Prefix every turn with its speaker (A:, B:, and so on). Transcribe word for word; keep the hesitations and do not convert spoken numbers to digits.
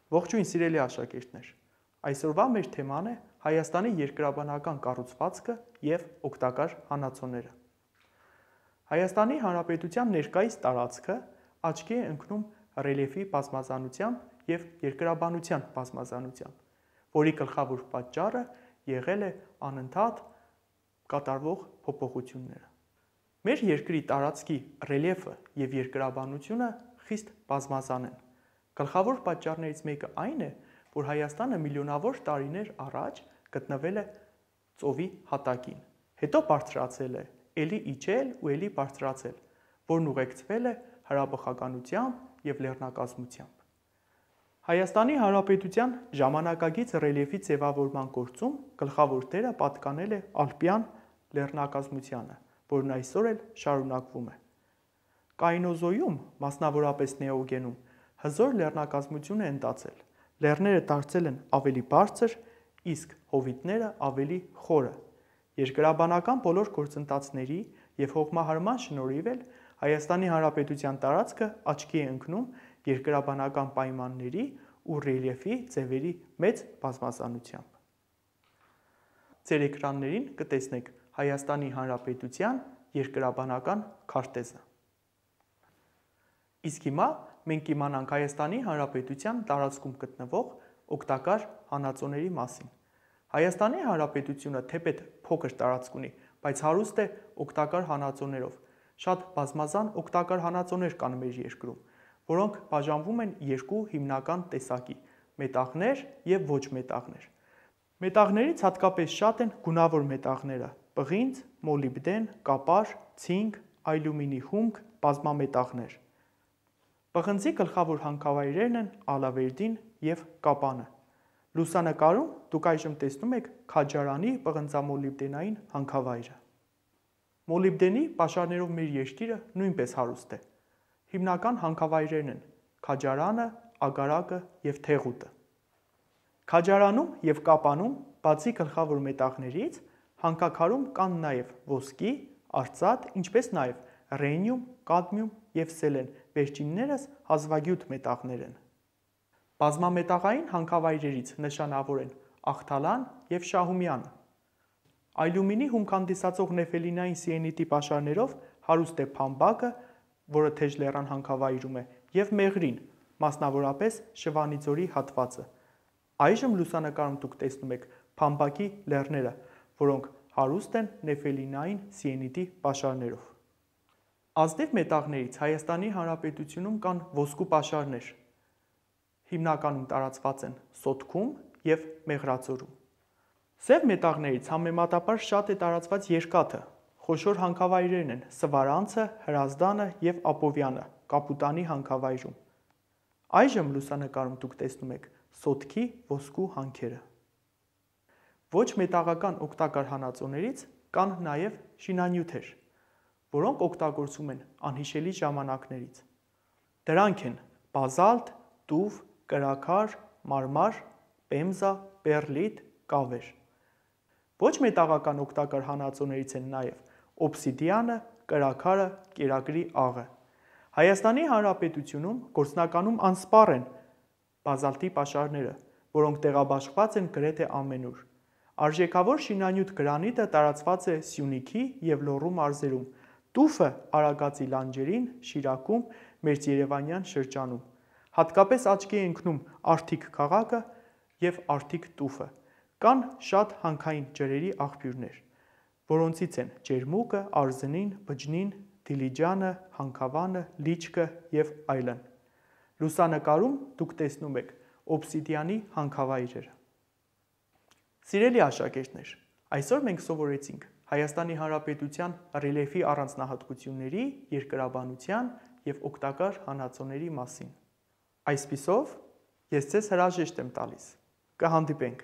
A: Ողջույն սիրելի աշակերտներ, այսօրվա մեր թեման է Հայաստանի երկրաբանական կառուցվածքը և օգտակար հանածոները։ Հայաստանի Հանրապետության ներկայիս տարածքը աչքի է ընկնում ռելիեֆի բազմազանությամբ և երկրաբանության բազմազանությամբ, որի գլխավոր պատճառը եղել է անընդհատ կատարվող փոփոխությունները։ Մեր երկրի տարածքի ռելիեֆը և երկրաբանությունը խիստ բազմազան են։ Գլխավոր պատճառներից մեկը այն է, որ Հայաստանը միլիոնավոր տարիներ առաջ գտնվել է ծովի հատակին, հետո բարձրացել է, էլի իջել ու էլի բարձրացել, որն ուղեկցվել է հրաբխականությամբ և լեռնակազմությամբ։ Հայաստանի Հանրապետության ժամանակակից ռելիեֆի ձևավորման գործում գլխավոր դերը պատկանել է ալպյան լեռնակազմությանը, որն այսօր էլ շարունակվում է։ Կայնոզոյում, մասնավորապես նեոգենում, հզոր լեռնակազմություն է ընտածել, լեռները դարձել են ավելի բարձր, իսկ հովիտները ավելի խորը։ Երկրաբանական բոլոր գործընթացների և հողմահարման շնորհիվ էլ Հայաստանի Հանրապետության տարածքը աչքի է ընկնում երկրաբանական պայմանների ու ռելիեֆի ձևերի մեծ բազմազանությամբ։ Ձեր էկրաններին կտեսնեք Հայաստանի Հանրապետության երկրաբանական քարտեզը։ Իսկ հիմա մենք կիմանանք Հայաստանի Հանրապետության տարածքում գտնվող օգտակար հանածոների մասին։ Հայաստանի Հանրապետությունը թեպետ փոքր տարածք ունի, բայց հարուստ է օգտակար հանածոներով։ Շատ բազմազան օգտակար հանածոներ կան մեր երկրում, որոնք բաժանվում են երկու հիմնական տեսակի՝ մետաղներ և ոչ մետաղներ։ Մետաղներից հատկապես շատ են գունավոր մետաղները՝ պղինձ, մոլիբդեն, կապար, ցինկ, ալյումինի հումք, բազմամետաղներ։ Պղնձի գլխավոր հանքավայրերն են Ալավերդին և Կապանը։ Լուսանկարում դուք այժմ տեսնում եք Քաջարանի պղնձամոլիբդենային հանքավայրը։ Մոլիբդենի պաշարներով մեր երկիրը նույնպես հարուստ է։ Հիմնական հանքավայրերն են Քաջարանը, Ագարակը և Թեղուտը։ Քաջարանում և Կապանում, բացի գլխավոր մետաղներից, հանքաքարում կան նաև ոսկի, արծաթ, ինչպես նաև ռենիում, կադմիում և սելեն, վերջիններս հազվագյուտ մետաղներ են։ Բազմամետաղային հանքավայրերից նշանավոր են Ախթալան և Շահումյանը։ Ալյումինի հումք հանդիսացող նեֆելինային սիենիտի պաշարներով հարուստ է Փամբակը, որը Թեժլեռան հանքավայրում է, և Մեղրին, մասնավորապես Շվանիձորի հատվածը։ Այժմ լուսանկարում դուք տեսնում եք Փամբակի լեռները, որոնք հարուստ են նեֆելինային սիենիտի պաշարներով։ Ազնիվ մետաղներից Հայաստանի Հանրապետությունում կան ոսկու պաշարներ։ Հիմնականում տարածված են Սոտքում և Մեղրածորում։ Սև մետաղներից համեմատաբար շատ է տարածված երկաթը։ Խոշոր հանքավայրերն են Սվարանցը, Հրազդանը և Ապովյանը Կապուտանի հանքավայրում։ Այժմ լուսանկարում դուք տեսնում եք Սոտքի ոսկու հանքերը։ Ոչ մետաղական օգտակար հանածոներից կան նաև շինանյութեր, որոնք օգտագործվում են անհիշելի ժամանակներից։ Դրանք են բազալտ, տուֆ, կրաքար, մարմար, պեմզա, պեռլիտ, կավեր։ Ոչ մետաղական օգտակար հանածոներից են նաև օբսիդիանը, կրաքարը, կերակրի աղը։ Հայաստանի Հանրապետությունում գործնականում անսպառ են բազալտի պաշարները, որոնք տեղաբաշխված են գրեթե ամենուր։ Արժեքավոր շինանյութ գրանիտը տարածված է Սյունիքի և Լոռու մարզերում, տուֆը Արագածի լանջերին, Շիրակում, մերձերևանյան շրջանում։ Հատկապես աչքի է ընկնում Արթիկ քաղաքը և Արթիկ տուֆը։ Կան շատ հանքային ջրերի աղբյուրներ, որոնցից են Ջերմուկը, Արզնին, Բջնին, Դիլիջանը, Հանքավանը, Լիչկը և այլն։ Լուսանկարում դուք տեսնում եք օբսիդիանի հանքավայրերը։ Սիրելի աշակերտներ, այսօր մենք սովորեցինք Հայաստանի Հանրապետության ռելիեֆի առանձնահատկությունների, երկրաբանության և օգտակար հանածոների մասին։ Այսպիսով, ես ձեզ հրաժեշտ եմ տալիս։ Կհանդիպենք։